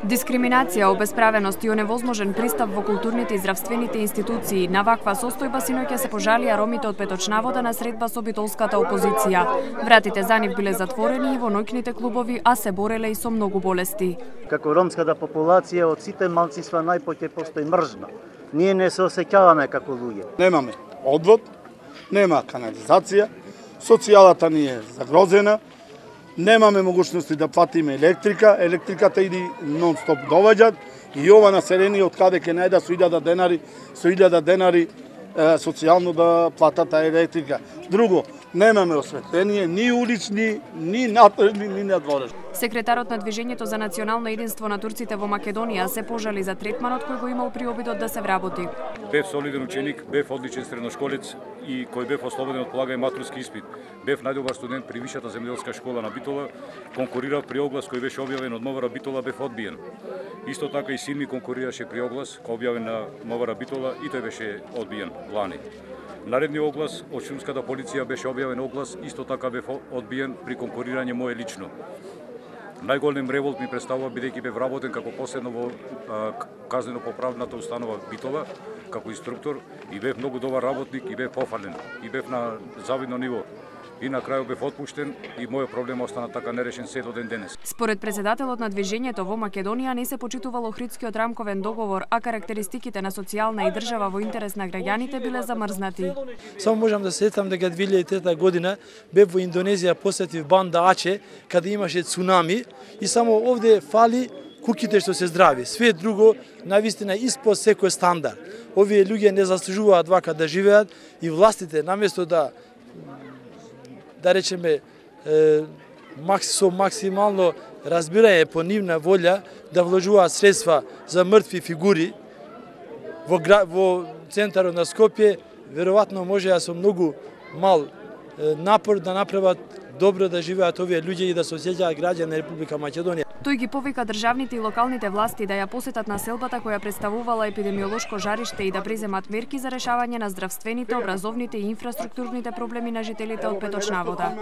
Дискриминација, обесправеност и оневозможен пристап во културните и здравствените институции. На ваква состојба синоќа се пожалија ромите од Петочнавода на средба со битолската опозиција. Вратите за нив биле затворени и во ноќните клубови, а се бореле и со многу болести. Како ромската популација од сите малцинства најпоќе постои мржна. Ние не се осеќаваме како луѓе. Немаме одвод, нема канализација, социјалата ни е загрозена. Немаме могуćности да платиме електрика, електриката иди нон-стоп доваѓат и ова население од каде ќе најда со 1000 денари социјално да платат таа електрика. Друго, немаме осветление, ни улични, ни натрешни, ни надворешни. Секретарот на Движењето за национално единство на турците во Македонија се пожали за третманот кој го имал при обидот да се вработи. Бев солиден ученик, бев одличен средношколец и кој бев ослободен од полагање матурски испит. Бев најдобар студент при Висшата земјоделска школа на Битола, конкурирав при оглас кој беше објавен од МВР Битола, бев одбиен. Исто така и син ми конкурираше при оглас кој објавен на МВР Битола и тој беше одбиен лани. Наредниот оглас од шумската полиција беше објавен оглас, исто така бев одбиен при конкурирање мое лично. Најголем револт ми представува бидејќи бев работен како последно во казнено-поправната установа Битола, како инструктор и бев многу добар работник и бев пофален и бев на завидно ниво. И на крајот бев отпуштен и мојот проблем остана така нерешен се до ден денес. Според председателот на Движењето во Македонија не се почитувал Охридскиот рамковен договор, а карактеристиките на социјална и држава во интерес на граѓаните биле замрзнати. Само можам да се сетам дека 2003 година бев во Индонезија, посетив Банда Аче, каде имаше цунами и само овде фали куќите што се здрави. Све друго навистина испод секој стандард. Овие луѓе не заслужуваат вака да живеат и властите наместо да речеме со максимално разбирање по нивна волја да вложуваат средства за мртви фигури во центарот на Скопје, веројатно можеа со многу мал напор да направат добро да живеат овие луѓе и да се осеќаат граѓани на Република Македонија. Тој ги повика државните и локалните власти да ја посетат населбата која представувала епидемиолошко жариште и да преземат мерки за решавање на здравствените, образовните и инфраструктурните проблеми на жителите од Петочнавода.